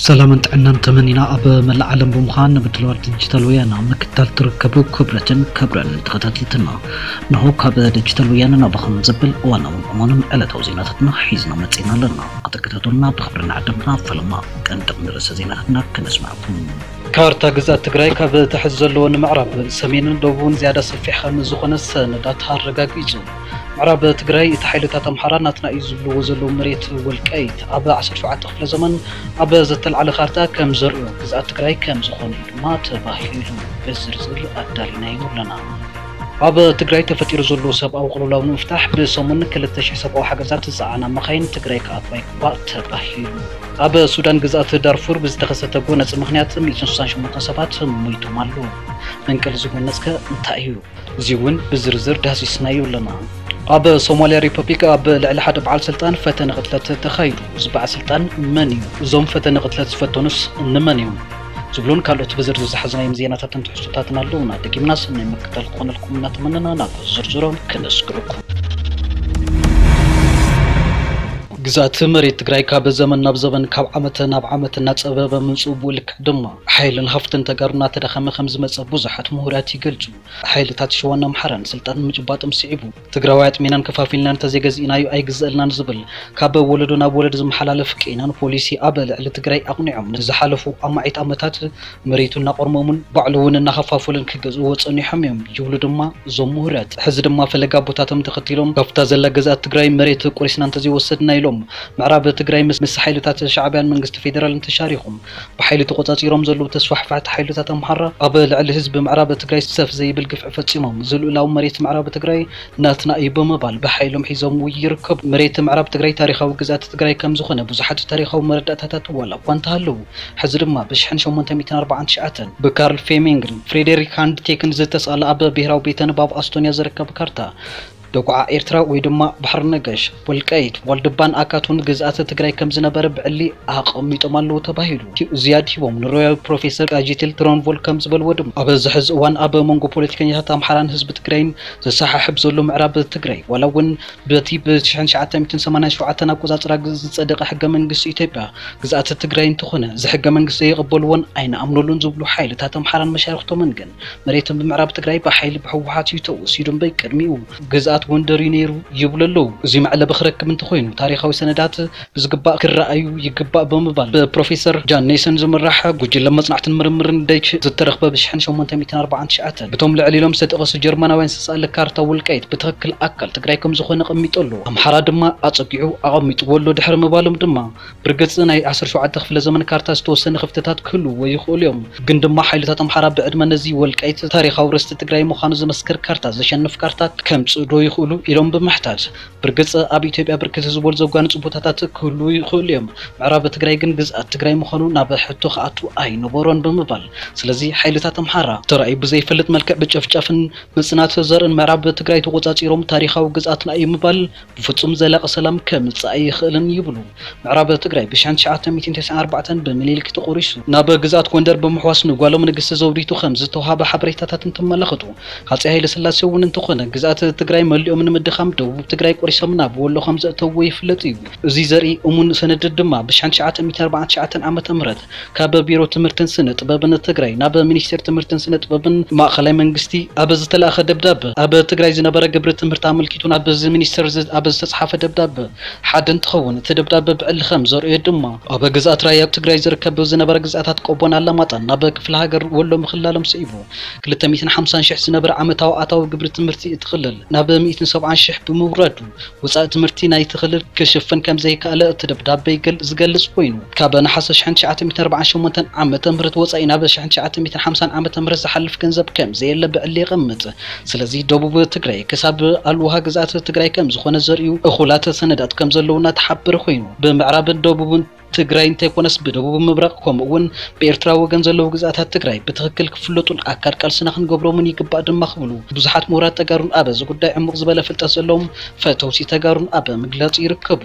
ሰላምን ጥዕናን ተመኒና፣ ኣብ መላእ ዓለም ብምዃን ንብድለዋል ዲጂታል ወያነ ምክታል ትርከቡ ክብረትን ክብረን ተኸታተልትና፣ እንሆ ካብ ዲጂታል ወያነ ናባኹም ዘብል እዋናውን እዋንን ዕለታዊ ዜናታትና ሒዝና መጺእና ኣለና። ክትከታተሉና ብኽብሪ ንዓድምና። ፈለማ ቀንዲ ርእሰ ዜናታትና ከነስምዓኩም። ካርታ ግዝኣት ትግራይ ካብ ታሕቲ ዘለዎ ንምዕራብ፣ ሰሜንን ደቡብን ዝያዳ ሰፊሕ ከም ዝኾነ ሰነዳት ኣረጋጊጹ። ምዕራብ ትግራይ እቲ ሓይልታት ኣምሓራ ናትና እዩ ዝብልዎ ዘለዉ መሬት ወልቃይት ኣብ ዓሰርተ ሸውዓተ ክፍለ ዘመን ኣብ ዘተልዓለ ካርታ ከም ዘርእዮ ግዝኣት ትግራይ ከም ዝኾነ እዩ ድማ ተባሂሉ። ብዝርዝር ኣዳሊናዮ ኣለና። ኣብ ትግራይ ተፈጢሩ ዘሎ ሰብኣዊ ቅልውላው ንምፍታሕ ብሰሙን ክልተ ሽሕ ሰብኣዊ ሓገዛት ዝፀዓና መኻይን ትግራይ ክኣትዋ ይግባእ ተባሂሉ። ኣብ ሱዳን ግዝኣት ዳርፉር ብዝተኸሰተ ጎነፂ ምኽንያት ሚእትን ስሳን ሸሞንተን ሰባት ሞይቶም ኣለዉ። መንቀሊ እዚ ጎነፅከ እንታይ እዩ? እዚ እውን ብዝርዝር ዳህሲስናዮ ኣለና። ኣብ ሶማልያ ሪፐብሊክ ኣብ ልዕሊ ሓደ በዓል ስልጣን ፈተነ ቅትለት ተኻይዱ። እዚ በዓል ስልጣን መን እዩ? እዞም ፈተነ ቅትለት ዝፈተኑስ እንመን እዮም? ዝብሉን ካልኦት ብዝርዝር ዝሓዝናዮም ዜናታትን ትሕዝቶታትን ኣለዉና። ደጊምና ሰናይ ምክታል ክኾነልኩም እናተመነና ናብ ዝርዝሮም ክነስግረኩም። ግዝኣት መሬት ትግራይ ካብ ዘመን ናብ ዘመን፣ ካብ ዓመት ናብ ዓመት እናፀበበ ምምፅኡ፣ ብኡ ልክዕ ድማ ሓይልን ሃፍትን ተጋሩ እናተዳኸመ ከም ዝመፀ ብዙሓት ምሁራት ይገልፁ። ሓይልታት ሸዋን ኣምሓራን ስልጣን ንምጭባጦም ስዒቡ፣ ትግራዋይ ኣጥሚናን ከፋፊልናን እንተዘይገዚእናዮ ኣይግዘእልናን ዝብል ካብ ወለዶ ናብ ወለዶ ዝመሓላለፍ ቄናን ፖሊሲ ኣብ ልዕሊ ትግራይ ኣቕኒዖም ንዝሓለፉ ኣማዒት ዓመታት መሬቱ እናቖርመሙን ባዕሉ እውን እናኸፋፈሉን ክገዝእዎ ጸኒሖም እዮም ይብሉ ድማ እዞም ምሁራት። ሕዚ ድማ ፈለግ ኣቦታቶም ተኸቲሎም ካብታ ዘላ ግዝኣት ትግራይ መሬት ቆሪስና እንተዘይወሰድና ኢሎም ምዕራብ ትግራይ ምስ፣ ምስ ሓይልታት ሻዕብያን መንግስቲ ፌደራልን ተሻሪኹም ብሓይሊ ተቖጻጺሮም ዘለዉ ተስፋሕፋሕቲ ሓይልታት ኣምሓራ ኣብ ልዕሊ ህዝቢ ምዕራብ ትግራይ ሰፍ ዘይብል ግፍዒ ፈጺሞም፣ እዚ ልኡላዊ መሬት ምዕራብ ትግራይ ናትና እዩ ብምባል ብሓይሎም ሒዞምዎ ይርከቡ። መሬት ምዕራብ ትግራይ ታሪኻዊ ግዝኣት ትግራይ ከም ዝኾነ ብዙሓት ታሪኻዊ መረዳእታታት ዋላ እኳ እንተሃለዉ፣ ሕዚ ድማ ብሽሕን ሸሞንተ ሚእትን ኣርባዓን ትሽዓተን ብካርል ፌሚንግን ፍሬደሪክ ሃንድቴክን ዝተስኣለ ኣብ ብሄራዊ ቤተ ንባብ ኣስቶንያ ዝርከብ ካርታ ደጉዓ ኤርትራ ወይ ድማ ባሕሪ ነጋሽ፣ ወልቃይት፣ ዋልድባን ኣካቱን ግዝኣተ ትግራይ ከም ዝነበረ ብዕሊ ኣቐሚጦም ኣለዉ ተባሂሉ። ዝያድ ሂቦም ንሮያል ፕሮፌሰር ቃጂትል ትሮንቮል ከም ዝበልዎ ድማ፣ ኣብዚ ሕዚ እዋን ኣብ መንጎ ፖለቲከኛታት ኣምሓራን ህዝቢ ትግራይን ዘሰሓሕብ ዘሎ ምዕራብ ትግራይ፣ ዋላ እውን በቲ ብሽሕን ትሽዓተ ሚእትን ሰማንያን ሸውዓተን ኣቆጻጽራ ግ-፣ ዝጸደቐ ሕገ መንግስቲ ኢትዮጵያ፣ ግዝኣተ ትግራይ እንተኾነ፣ እዚ ሕገ መንግስቲ ዘይቕበልዎን ኣይንኣምነሉን ዝብሉ ሓይልታት ኣምሓራን መሻርኽቶምን ግን፣ መሬቶም ብምዕራብ ትግራይ ብሓይሊ ብህወሓት እዩ ተወሲዱ እምበር፣ ቅድሚኡ ግዝኣት ጎንደር እዩ ነይሩ ይብሉ ኣለዉ። እዚ መዕለቢ ክረክብ እንተኾይኑ፣ ታሪኻዊ ሰነዳት ብዝግባእ ክረኣዩ ይግባእ ብምባል፣ ብፕሮፌሰር ጃን ኔሰን ዝምራሕ ጉጅለ መጽናዕትን ምርምርን ደች ዝተረኽበ ብሽሕን ሸሞንተ ሚእትን ኣርባዓን ትሽዓተን ብቶም ልዕል ኢሎም ዝተጠቐሱ ጀርመናውያን ዝተሳእለ ካርታ ወልቃይት ብትኽክል ኣካል ትግራይ ከም ዝኾነ ኣቐሚጡ ኣሎ። ኣምሓራ ድማ ኣጸጊዑ ኣቐሚጥዎ ኣሎ ድሕሪ ምባሎም ድማ፣ ብርግጽ ናይ ዓሰርተ ሸውዓተ ክፍለ ዘመን ካርታ ዝተወሰነ ክፍተታት ክህልውዎ ይኽእሉ እዮም፣ ግን ድማ ሓይልታት ኣምሓራ ብዕድመ ነዚ ወልቃይት ታሪኻዊ ርስቲ ትግራይ ምዃኑ ዝመስክር ካርታ፣ ዘሸንፍ ካርታ ከምጽኡ ዶ ይኽእሉ ኢሎም ብምሕታት፣ ብርግጽ ኣብ ኢትዮጵያ ብርክት ዝበሉ ዘጓንጹ ቦታታት ክህልዉ ይኽእሉ እዮም፣ ምዕራብ ትግራይ ግን ግዝኣት ትግራይ ምዃኑ ናብ ሕቶ ክኣቱ ኣይነበሮን ብምባል፣ ስለዚ ሓይልታት ኣምሓራ ተራእዩ ብዘይፈልጥ መልክዕ ብጨፍጫፍን ምጽናት ዘርእን ምዕራብ ትግራይ ተቖጻጺሮም ታሪኻዊ ግዝኣትና እዩ ምባል ብፍጹም ዘላቒ ሰላም ከምጽእ ኣይኽእልን ይብሉ። ምዕራብ ትግራይ ብሽሕን ትሽዓተ ሚእትን ተስዓን ኣርባዕተን ብምኒልክ ተቖሪሱ ናብ ግዝኣት ጎንደር ብምሕዋስ ንጓሎም ንግስቲ ዘውዲቱ ከም ዝተውሃበ ሓበሬታታት እንትመላኸቱ፣ ሃፀይ ሃይለ ስላሴ እውን እንተኾነ ግዝኣት ትግራይ መሊኦም ንምድኻም ደቡብ ትግራይ ቆሪሶም ናብ ወሎ ከም ዘእተውዎ ይፍለጥ እዩ። እዚ ዘርኢ እሙን ሰነድ ድማ ብሽሕን ትሽዓተ ሚእትን ኣርባዓን ትሽዓተን ዓመተ ምህረት ካብ ቢሮ ትምህርትን ስነ ጥበብን ትግራይ ናብ ሚኒስቴር ትምህርትን ስነ ጥበብን ማእኸላይ መንግስቲ ኣብ ዝተላእኸ ደብዳበ፣ ኣብ ትግራይ ዝነበረ ግብሪ ትምህርቲ ኣመልኪቱ ናብ እዚ ሚኒስቴር ዝ-፣ ኣብ ዝተፅሓፈ ደብዳበ ሓደ እንትኸውን፣ እቲ ደብዳበ ብዕሊ ከም ዘርእዮ ድማ፣ ኣብ ግዝኣት ራያ ትግራይ ዝርከብ ዝነበረ ግዝኣታት ቆቦን ኣላማጣን ናብ ክፍለ ሃገር ወሎ ምኽላሎም ስዒቡ፣ ክልተ ሚእትን ሓምሳን ሽሕ ዝነበረ ዓመታዊ ኣታዊ ግብሪ ትምህርቲ እቲ ክልል ናብ ሚእትን ሰብዓን ሽሕ ብምውራዱ፣ ወጻኢ ትምህርቲ ናይቲ ክልል ክሽፍን ከም ዘይከኣለ እቲ ደብዳበ ይገል-፣ ዝገልጽ ኮይኑ፣ ካብ ነሓሰ ሽሕን ትሽዓተ ሚእትን ኣርባዓን ሸሞንተን ዓመተ ምህረት ወጻኢ ናብ ሽሕን ትሽዓተ ሚእትን ሓምሳን ዓመተ ምህረት ዝሓልፍ ገንዘብ ከም ዘየለ ብዕሊ የቐምጥ። ስለዚ ደቡብ ትግራይ ክሳብ ኣልውሃ ግዝኣት ትግራይ ከም ዝኾነ ዘርእዩ እኹላት ሰነዳት ከም ዘለዉ እናተሓበረ ኮይኑ፣ ብምዕራብን ደቡብን ትግራይ እንተይኮነስ ብደቡብ ምብራቕ ከምኡ እውን ብኤርትራ ወገን ዘለዉ ግዝኣታት ትግራይ ብትኽክል ክፍለጡን ኣካል ቃልስና ክንገብሮምን ይግባእ ድማ ክብሉ ብዙሓት ምሁራት ተጋሩን ኣብ እዚ ጉዳይ ዕሙቕ ዝበለ ፍልጠት ዘለዎም ፈተውቲ ተጋሩን ኣብ ምግላጽ ይርከቡ።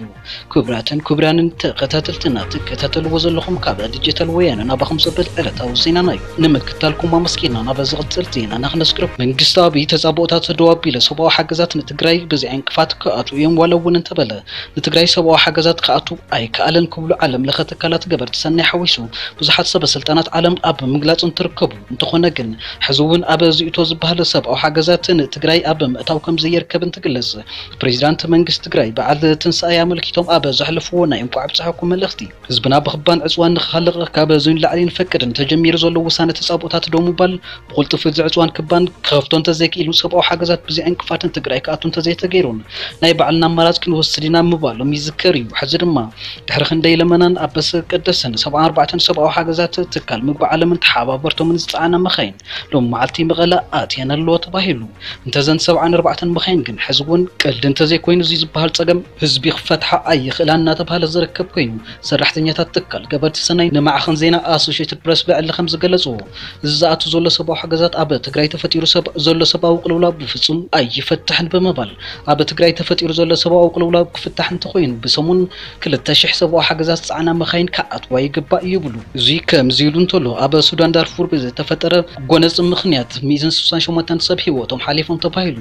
ክቡራትን ክቡራንን ተኸታተልትና፣ ትከታተልዎ ዘለኹም ካብ ዲጂታል ወያነ ናባኹም ዘብል ዕለታዊ ዜናና እዩ። ንምክታልኩም ኣመስጊና፣ ናብ ዝቕጽል ዜናና ክነስግረኩም። መንግስቲ ኣብይ ተጻብኦታት ደው ኣቢለ ሰብኣዊ ሓገዛት ንትግራይ ብዘይ ዕንቅፋት ክኣትዉ እዮም ዋላ እውን እንተበለ፣ ንትግራይ ሰብኣዊ ሓገዛት ክኣቱ ኣይከኣለን ክብሉ ዓለም ምልኸ ትካላት ገበርቲ ሰናይ ሓዊሱ ብዙሓት ሰበ ስልጣናት ዓለም ኣብ ምግላፅ እንትርከቡ፣ እንተኾነ ግን ሕዚ እውን ኣብ ዝእቶ ዝበሃል ሰብኣዊ ሓገዛት ንትግራይ ኣብ ምእታው ከም ዘይርከብ እንትግለጽ፣ ፕሬዚዳንት መንግስቲ ትግራይ በዓል ትንሳኤ ኣመልኪቶም ኣብ ዘሕለፍዎ ናይ እንኳዕ ኣብፀሐኩም መልእኽቲ፣ ህዝብና ብኽባን ዕፅዋን ንኽኻልቕ ካብ እዚ ንላዕሊ ንፈቅድን፣ ተጀሚሩ ዘሎ ውሳነ ተፃብኦታት ደው ምባል ብቕልጡፍ እዚ ዕፅዋን ክባን ክኸፍቶ እንተዘይክኢሉ፣ ሰብኣዊ ሓገዛት ብዘይ ዕንቅፋት ንትግራይ ክኣቱ እንተዘይተገይሩን ናይ ባዕልና ኣማራፅ ክንወስድ ኢና ምባሎም ይዝከር እዩ። ሕዚ ድማ ድሕሪ ክንደይ ለመናን ኣበስ ቀደስን ሰብዓ ኣርባዕተን ሰብኣዊ ሓገዛት ትካል ምግቢ ዓለምን ተሓባበርቶምን ዝፀዓና መኻይን ሎም መዓልቲ መቐለ ኣትየን ኣለዎ ተባሂሉ። እንተዘን ሰብዓን ኣርባዕተን መኻይን ግን ሕዚ እውን ቀልዲ እንተዘይኮይኑ እዚ ዝበሃል ፀገም ህዝቢ ክፈትሓ ኣይኽእላን እናተባሃለ ዝርከብ ኮይኑ፣ ሰራሕተኛታት ትካል ገበርቲ ሰናይ ንማዕኸን ዜና ኣሶሽየትድ ፕረስ ብዕሊ ከም ዝገለፅዎ፣ እዚ ዝኣቱ ዘሎ ሰብኣዊ ሓገዛት ኣብ ትግራይ ተፈጢሩ ሰብ ዘሎ ሰብኣዊ ቅልውላው ብፍፁም ኣይፈትሕን ብምባል፣ ኣብ ትግራይ ተፈጢሩ ዘሎ ሰብኣዊ ቅልውላው ክፍታሕ እንተኮይኑ ብሰሙን ክልተ ሺሕ ሰብኣዊ ሓገዛት ዝፀዓና መኻይን ክኣትዋ ይግባእ ይብሉ። እዚ ከምዚ ኢሉ እንተሎ፣ ኣብ ሱዳን ዳርፉር ብዝተፈጠረ ጎነፂ ምኽንያት ሚእትን ስሳን ሸሞንተን ሰብ ህይወቶም ሓሊፎም ተባሂሉ።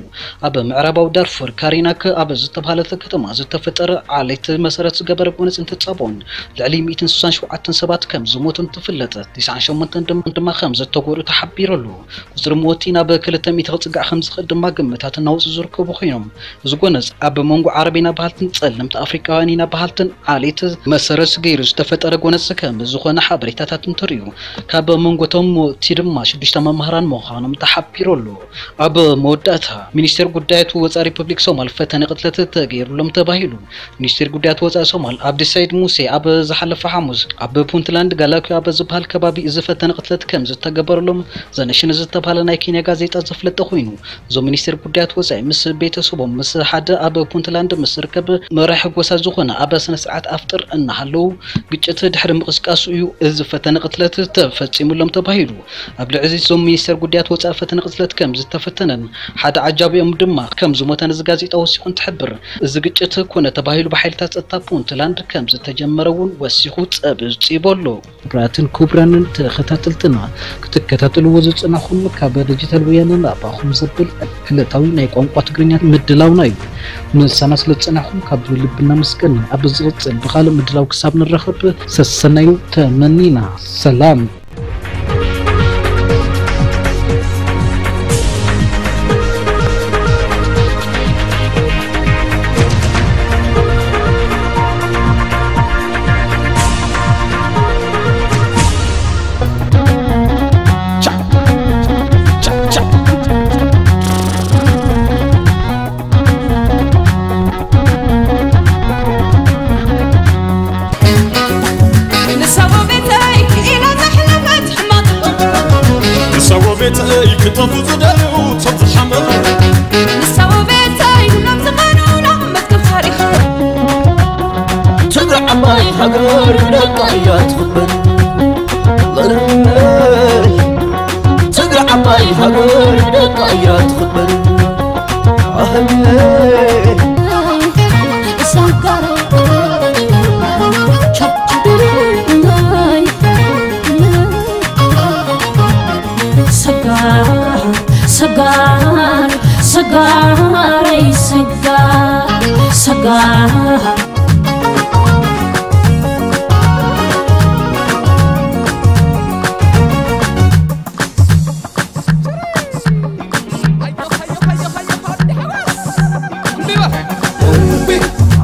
ኣብ ምዕራባዊ ዳርፉር ካሪናክ ኣብ ዝተባሃለት ከተማ ዝተፈጠረ ዓሌት መሰረት ዝገበረ ጎነፂ እንትፃቦን ልዕሊ ሚእትን ስሳን ሸውዓተን ሰባት ከም ዝሞቱ እንትፍለጥ፣ ቲስዓን ሸሞንተን ድማ ከም ዝተጎድኡ ተሓቢሩ ኣሎ። ቁፅሪ ሞት ናብ ክልተ ሚእቲ ክፅጋዕ ከም ዝኽእል ድማ ግምታት እናወፁ ዝርከቡ ኮይኖም፣ እዚ ጎነፅ ኣብ መንጎ ዓረብ ኢና በሃልትን ፀለምቲ ኣፍሪቃውያን ኢና በሃልትን ዓሌት መሰረት ገይሩ ዝተፈጠረ ጎነፅ ከም ዝኾነ ሓበሬታታት እንትርእዩ፣ ካብ መንጎቶም ሞቲ ድማ ሽዱሽተ መምህራን ምዃኖም ተሓቢሩ ኣሎ። ኣብ መወዳእታ፣ ሚኒስቴር ጉዳያት ወፃኢ ሪፐብሊክ ሶማል ፈተነ ቅትለት ተገይሩሎም ተባሂሉ። ሚኒስቴር ጉዳያት ወፃኢ ሶማል ኣብዲ ሰይድ ሙሴ ኣብ ዝሓለፈ ሓሙስ ኣብ ፑንትላንድ ጋላኩ ኣብ ዝበሃል ከባቢ እዚ ፈተነ ቅትለት ከም ዝተገበረሎም ዘነሽን ዝተባሃለ ናይ ኬንያ ጋዜጣ ዘፍለጠ ኮይኑ፣ እዞም ሚኒስቴር ጉዳያት ወፃኢ ምስ ቤተሰቦም ምስ ሓደ ኣብ ፑንትላንድ ምስ ዝርከብ መራሒ ጎሳ ዝኾነ ኣብ ስነ ስርዓት ኣፍጥር እናሃለዉ ግጭት ድሕሪ ምቕስቃሱ እዩ እዚ ፈተነ ቅትለት ተፈፂሙሎም ተባሂሉ። ኣብ ልዕሊ እዞም ሚኒስቴር ጉዳያት ወፃኢ ፈተነ ቅትለት ከም ዝተፈተነን ሓደ ዓጃቢኦም ድማ ከም ዝሞተን እዚ ጋዜጣ ወሲኹ እንትሕብር፣ እዚ ግጭት ኮነ ተባሂሉ ብሓይልታት ጸጥታ ፑንትላንድ ከም ዝተጀመረ እውን ወሲኹ ጸብጺቡ ኣሎ። ክቡራትን ክቡራንን ተኸታተልትና፣ ክትከታተልዎ ዝጸናኹም ካብ ዲጂታል ወያነ ናባኹም ዘብል ዕለታዊ ናይ ቋንቋ ትግርኛ ምድላውና እዩ። ምሳና ስለ ዝጸናኹም ካብ ልቢ እናመስገን፣ ኣብ ዝቕጽል ብኻልእ ምድላው ክሳብ ንራኸብ ሰሰናዩ ተመኒና። ሰላም። ንሳ ወቤተይ ክጠፉ ዝደልዩ ቶም ዝሓመዱ ንሳ ወቤተይ ኩሎም ዝቐኑና መዝገብ ታሪኽ ትግራይ ዓባይ ሃገር ደቃ እያ ትኽበር። ትግራይ ዓባይ ሃገር ደቃ እያ ትኽበር። ኣህለ ሰጋር ሰጋር ሰጋረይ ሰጋር ሰጋር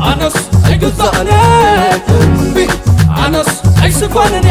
ኣነስ ኣይግዛእነ እምቢ ኣነስ ኣይስኮንን